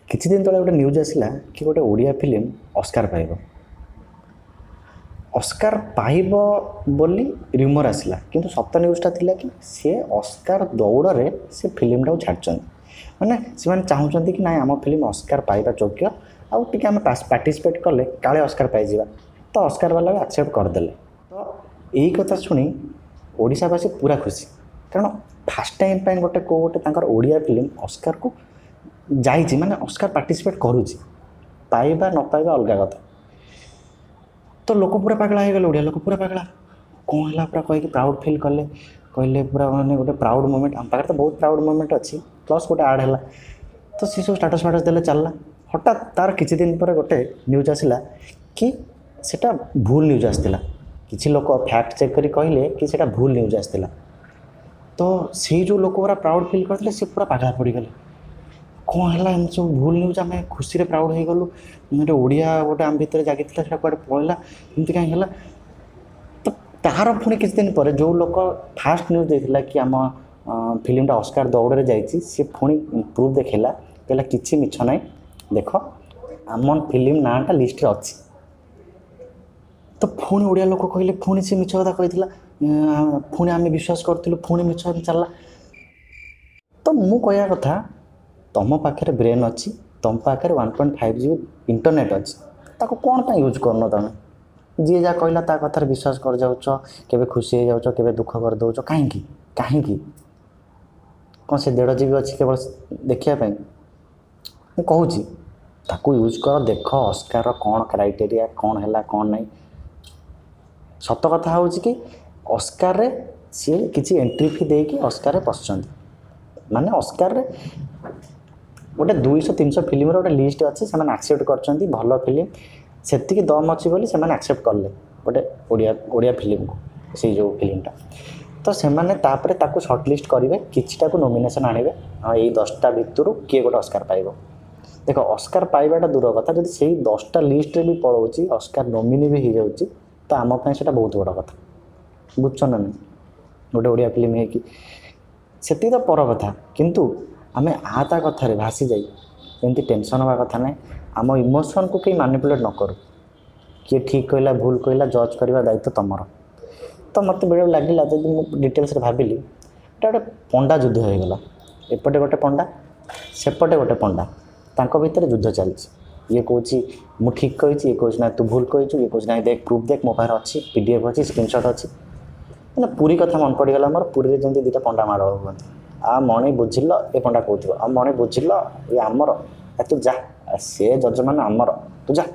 କିଛି ଦିନ ତଳେ ଗୋଟେ ନ୍ୟୁଜ୍ ଆସିଲା କି ଗୋଟେ ଓଡ଼ିଆ ଫିଲ୍ମ ଅସ୍କାର ପାଇବ। ଅସ୍କାର ପାଇବ ବୋଲି ର୍ୟୁମର୍ ଆସିଲା, କିନ୍ତୁ ସତ ନ୍ୟୁଜ୍ଟା ଥିଲା କି ସିଏ ଅସ୍କାର ଦୌଡ଼ରେ ସେ ଫିଲ୍ମଟାକୁ ଛାଡ଼ିଛନ୍ତି। ମାନେ ସେମାନେ ଚାହୁଁଛନ୍ତି କି ନାଇଁ ଆମ ଫିଲ୍ମ ଅସ୍କାର ପାଇବା ଯୋଗ୍ୟ, ଆଉ ଟିକେ ଆମେ ପାର୍ଟିସିପେଟ୍ କଲେ କାଳେ ଅସ୍କାର ପାଇଯିବା। ତ ଅସ୍କାର ବାଲା ବି ଆକ୍ସେପ୍ଟ କରିଦେଲେ। ତ ଏଇ କଥା ଶୁଣି ଓଡ଼ିଶାବାସୀ ପୁରା ଖୁସି, କାରଣ ଫାର୍ଷ୍ଟ ଟାଇମ୍ ପାଇଁ ଗୋଟେ କେଉଁ ଗୋଟେ ତାଙ୍କର ଓଡ଼ିଆ ଫିଲ୍ମ ଅସ୍କାରକୁ ଯାଇଛି, ମାନେ ଅସ୍କାର ପାର୍ଟିସିପେଟ୍ କରୁଛି। ପାଇବା ନ ପାଇବା ଅଲଗା କଥା। ତ ଲୋକ ପୁରା ପାଗଳା ହେଇଗଲେ, ଓଡ଼ିଆ ଲୋକ ପୁରା ପାଗଳା। କ'ଣ ହେଲା ପୁରା କହିକି ପ୍ରାଉଡ଼୍ ଫିଲ୍ କଲେ, କହିଲେ ପୁରା ମାନେ ଗୋଟେ ପ୍ରାଉଡ଼୍ ମୋମେଣ୍ଟ। ଆମ ପାଖରେ ତ ବହୁତ ପ୍ରାଉଡ଼୍ ମୋମେଣ୍ଟ ଅଛି, ପ୍ଲସ୍ ଗୋଟେ ଆଡ଼୍ ହେଲା। ତ ସେ ସବୁ ଷ୍ଟାଟସ୍ ଫାଟସ୍ ଦେଲେ, ଚାଲିଲା। ହଠାତ୍ ତାର କିଛି ଦିନ ପରେ ଗୋଟେ ନ୍ୟୁଜ୍ ଆସିଲା କି ସେଇଟା ଭୁଲ ନ୍ୟୁଜ୍ ଆସିଥିଲା। କିଛି ଲୋକ ଫ୍ୟାକ୍ଟ ଚେକ୍ କରି କହିଲେ କି ସେଇଟା ଭୁଲ ନ୍ୟୁଜ୍ ଆସିଥିଲା। ତ ସେଇ ଯେଉଁ ଲୋକ ପୁରା ପ୍ରାଉଡ଼୍ ଫିଲ୍ କରିଥିଲେ, ସେ ପୁରା ପାଗଳା ପଡ଼ିଗଲେ। କ'ଣ ହେଲା ଏମିତି ସବୁ ଭୁଲ ନ୍ୟୁଜ୍, ଆମେ ଖୁସିରେ ପ୍ରାଉଡ଼୍ ହେଇଗଲୁ, ଗୋଟେ ଓଡ଼ିଆ ଗୋଟେ ଆମ ଭିତରେ ଜାଗିଥିଲା, ସେଇଟା କୁଆଡ଼େ ପଳେଇଲା, ଏମିତି କାହିଁ ହେଲା? ତ ତାହାର ପୁଣି କିଛି ଦିନ ପରେ ଯେଉଁ ଲୋକ ଫାଷ୍ଟ ନ୍ୟୁଜ୍ ଦେଇଥିଲା କି ଆମ ଫିଲ୍ମଟା ଅସ୍କାର ଦୌଡ଼ରେ ଯାଇଛି, ସେ ପୁଣି ପ୍ରୁଫ୍ ଦେଖେଇଲା, କହିଲା କିଛି ମିଛ ନାହିଁ, ଦେଖ ଆମ ଫିଲ୍ମ ନାଁଟା ଲିଷ୍ଟରେ ଅଛି। ତ ପୁଣି ଓଡ଼ିଆ ଲୋକ କହିଲେ ପୁଣି ସେ ମିଛ କଥା କହିଥିଲା, ପୁଣି ଆମେ ବିଶ୍ୱାସ କରିଥିଲୁ, ପୁଣି ମିଛ ଚାଲିଲା। ତ ମୁଁ କହିବା କଥା, ତୁମ ପାଖରେ ବ୍ରେନ୍ ଅଛି, ତୁମ ପାଖରେ 1.5 GB internet ଅଛି, ତାକୁ କ'ଣ ପାଇଁ ୟୁଜ୍ କରୁନ ତୁମେ? ଯିଏ ଯାହା କହିଲା ତା କଥାରେ ବିଶ୍ୱାସ କରିଯାଉଛ, କେବେ ଖୁସି ହେଇଯାଉଛ, କେବେ ଦୁଃଖ କରିଦେଉଛ। କାହିଁକି କାହିଁକି କ'ଣ ସେ 1.5 GB ଅଛି କେବଳ ଦେଖିବା ପାଇଁ? ମୁଁ କହୁଛି ତାକୁ ୟୁଜ୍ କର, ଦେଖ ଅସ୍କାର କ'ଣ କ୍ରାଇଟେରିଆ, କ'ଣ ହେଲା କ'ଣ ନାହିଁ। ସତ କଥା ହେଉଛି କି ଅସ୍କାରରେ ସିଏ କିଛି ଏଣ୍ଟ୍ରି ଫି ଦେଇକି ଅସ୍କାରରେ ପଶିଛନ୍ତି। ମାନେ ଅସ୍କାରରେ ଗୋଟେ 200-300 ଫିଲ୍ମର ଗୋଟେ ଲିଷ୍ଟ ଅଛି, ସେମାନେ ଆକ୍ସେପ୍ଟ କରିଛନ୍ତି ଭଲ ଫିଲ୍ମ, ସେତିକି ଦମ୍ ଅଛି ବୋଲି ସେମାନେ ଆକ୍ସେପ୍ଟ କଲେ ଗୋଟେ ଓଡ଼ିଆ ଫିଲ୍ମକୁ, ସେଇ ଯେଉଁ ଫିଲ୍ମଟା। ତ ସେମାନେ ତାପରେ ତାକୁ ସର୍ଟ ଲିଷ୍ଟ କରିବେ, କିଛିଟାକୁ ନୋମିନେସନ୍ ଆଣିବେ, ହଁ ଏଇ 10ଟା ଭିତରୁ କିଏ ଗୋଟେ ଅସ୍କାର ପାଇବ। ଦେଖ ଅସ୍କାର ପାଇବାଟା ଦୂର କଥା, ଯଦି ସେଇ 10ଟା ଲିଷ୍ଟରେ ବି ପଳାଉଛି, ଅସ୍କାର ନୋମିନି ବି ହେଇଯାଉଛି, ତ ଆମ ପାଇଁ ସେଇଟା ବହୁତ ବଡ଼ କଥା। ବୁଝୁଛ ନା ନାହିଁ? ଗୋଟେ ଓଡ଼ିଆ ଫିଲ୍ମ ହେଇକି ସେତିକି ତ ପର କଥା, କିନ୍ତୁ ଆମେ ଆ ତା କଥାରେ ଭାସି ଯାଇ ଏମିତି ଟେନସନ୍ ହେବା କଥା ନାହିଁ। ଆମ ଇମୋସନ୍କୁ କେହି ମାନିପୁଲେଟ୍ ନ କରୁ। କିଏ ଠିକ୍ କହିଲା ଭୁଲ କହିଲା ଜଜ୍ କରିବା ଦାୟିତ୍ୱ ତୁମର। ତ ମୋତେ ବେଳେବେଳେ ଲାଗିଲା, ଯଦି ମୁଁ ଡିଟେଲ୍ସରେ ଭାବିଲି, ଏଇଟା ଗୋଟେ ପଣ୍ଡା ଯୁଦ୍ଧ ହେଇଗଲା। ଏପଟେ ଗୋଟେ ପଣ୍ଡା, ସେପଟେ ଗୋଟେ ପଣ୍ଡା, ତାଙ୍କ ଭିତରେ ଯୁଦ୍ଧ ଚାଲିଛି। ଇଏ କହୁଛି ମୁଁ ଠିକ୍ କହିଛି, ଇଏ କହୁଛି ନା ତୁ ଭୁଲ କହିଛୁ, ଇଏ କହୁଛି ନାଇଁ ଦେଖ ପ୍ରୁଫ୍ ଦେଖ, ମୋ ପାଖରେ ଅଛି, PDF ଅଛି, ସ୍କ୍ରିନସଟ୍ ଅଛି। ମାନେ ପୁରୀ କଥା ମନେ ପଡ଼ିଗଲା ମୋର, ପୁରୀରେ ଯେମିତି ଦୁଇଟା ପଣ୍ଡା ମାଡ଼ ହୁଅନ୍ତି। ଆ ମଣି ବୁଝିଲ, ଏ ପଣ୍ଡା କହୁଥିବ, ଆଉ ମଣି ବୁଝିଲ ଇଏ ଆମର, ତୁ ଯା, ସେ ଯଜମାନ ଆମର, ତୁ ଯା।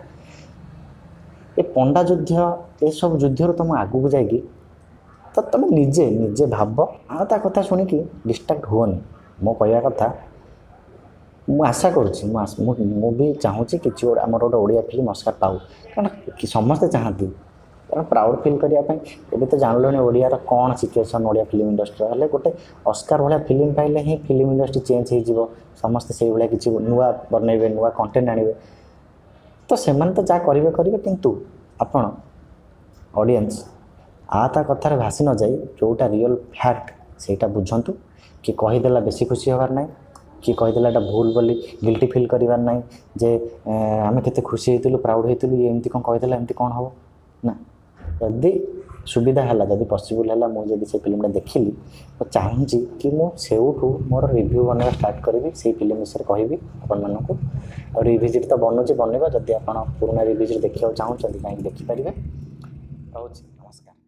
ଏ ପଣ୍ଡା ଯୁଦ୍ଧ, ଏସବୁ ଯୁଦ୍ଧରୁ ତୁମ ଆଗକୁ ଯାଇକି ତ ତୁମେ ନିଜେ ନିଜେ ଭାବ, ଆଉ ତା କଥା ଶୁଣିକି ଡିଷ୍ଟ୍ରାକ୍ଟ ହୁଅନି। ମୋ କହିବା କଥା, ମୁଁ ଆଶା କରୁଛି, ମୁଁ ବି ଚାହୁଁଛି କିଛି ଗୋଟେ ଆମର ଗୋଟେ ଓଡ଼ିଆ ଫିଲ୍ମ ଅସ୍କାର ପାଉ, କାରଣ ସମସ୍ତେ ଚାହାନ୍ତି, କାରଣ ପ୍ରାଉଡ଼୍ ଫିଲ୍ କରିବା ପାଇଁ। ଏବେ ତ ଜାଣିଲଣି ଓଡ଼ିଆର କ'ଣ ସିଚୁଏସନ୍ ଓଡ଼ିଆ ଫିଲ୍ମ ଇଣ୍ଡଷ୍ଟ୍ରିର, ହେଲେ ଗୋଟେ ଅସ୍କାର ଭଳିଆ ଫିଲ୍ମ ପାଇଲେ ହିଁ ଫିଲ୍ମ ଇଣ୍ଡଷ୍ଟ୍ରି ଚେଞ୍ଜ ହେଇଯିବ, ସମସ୍ତେ ସେଇଭଳିଆ କିଛି ନୂଆ ବନେଇବେ, ନୂଆ କଣ୍ଟେଣ୍ଟ ଆଣିବେ। ତ ସେମାନେ ତ ଯାହା କରିବେ କରିବେ, କିନ୍ତୁ ଆପଣ ଅଡ଼ିଏନ୍ସ ଆ ତା କଥାରେ ଭାସି ନ ଯାଇ ଯେଉଁଟା ରିଅଲ୍ ଫ୍ୟାକ୍ଟ ସେଇଟା ବୁଝନ୍ତୁ। କି କହିଦେଲା ବେଶୀ ଖୁସି ହେବାର ନାହିଁ, କି କହିଦେଲା ଏଇଟା ଭୁଲ ବୋଲି ଗିଲ୍ଟି ଫିଲ୍ କରିବାର ନାହିଁ ଯେ ଆମେ କେତେ ଖୁସି ହେଇଥିଲୁ, ପ୍ରାଉଡ଼୍ ହେଇଥିଲୁ, ଇଏ ଏମିତି କ'ଣ କହିଦେଲା, ଏମିତି କ'ଣ ହେବ ନା। ଯଦି ସୁବିଧା ହେଲା, ଯଦି ପସିବୁଲ୍ ହେଲା, ମୁଁ ଯଦି ସେ ଫିଲ୍ମଟା ଦେଖିଲି, ମୁଁ ଚାହୁଁଛି କି ମୁଁ ସେଇଠୁ ମୋର ରିଭ୍ୟୁ ବନେଇବା ଷ୍ଟାର୍ଟ କରିବି, ସେଇ ଫିଲ୍ମ ବିଷୟରେ କହିବି ଆପଣମାନଙ୍କୁ। ଆଉ ରିଭିଜିଟ୍ ତ ବନୁଛି, ବନେଇବା। ଯଦି ଆପଣ ପୁରୁଣା ରିଭିଜିଟ୍ ଦେଖିବାକୁ ଚାହୁଁଛନ୍ତି କାହିଁକି ଦେଖିପାରିବେ। ରହୁଛି, ନମସ୍କାର।